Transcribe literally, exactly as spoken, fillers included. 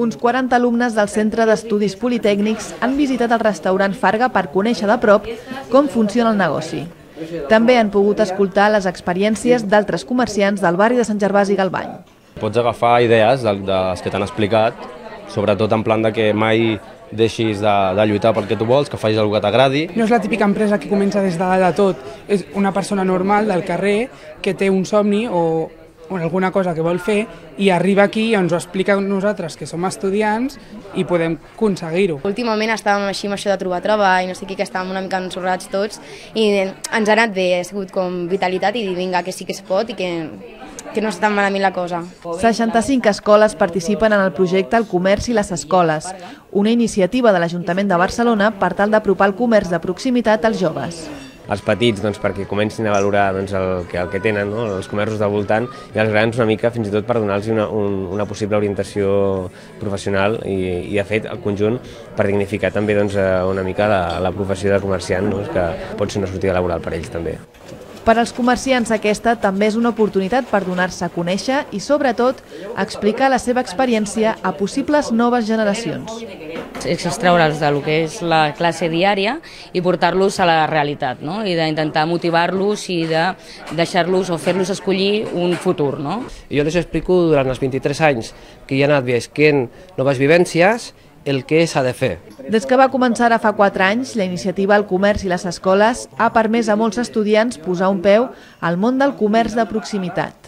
Uns quaranta alumnes del Centre d'Estudis Politècnics han visitat el restaurant Farga per conèixer de prop com funciona el negoci. També han pogut escoltar les experiències d'altres comerciants del barri de Sant Gervasi i Galvany. Pots agafar idees de les que t'han explicat, sobretot en plan de que mai deixis de, de lluitar pel que tu vols, que facis alguna que t'agradi. No és la típica empresa que comença des de dalt de tot, és una persona normal del carrer que té un somni o o alguna cosa que vol fer i arriba aquí i ens ho explica a nosaltres, que som estudiants, i podem aconseguir-ho. Últimament estàvem així amb això de trobar treball, no sé què, que estàvem una mica ensorrats tots i ens ha anat bé, ha sigut com vitalitat i dir vinga, que sí que es pot i que, que no està tan malament la cosa. seixanta-cinc escoles participen en el projecte El comerç i les escoles, una iniciativa de l'Ajuntament de Barcelona per tal d'apropar el comerç de proximitat als joves. Els petits doncs, perquè comencin a valorar doncs, el, que, el que tenen, no? Els comerços del voltant, i els grans una mica fins i tot per donar-los una, un, una possible orientació professional i, i de fet el conjunt per dignificar també doncs, una mica la, la professió de comerciant, no? Que pot ser una sortida laboral per ells també. Per als comerciants aquesta també és una oportunitat per donar-se a conèixer i sobretot explicar la seva experiència a possibles noves generacions. És extraure'ls del que és la classe diària i portar-los a la realitat, no? I d'intentar motivar-los i de deixar-los o fer-los escollir un futur, no? Jo les explico durant els vint-i-tres anys que hi ha anat visquent noves vivències el que s'ha de fer. Des que va començar ara fa quatre anys, la iniciativa El comerç i les escoles ha permès a molts estudiants posar un peu al món del comerç de proximitat.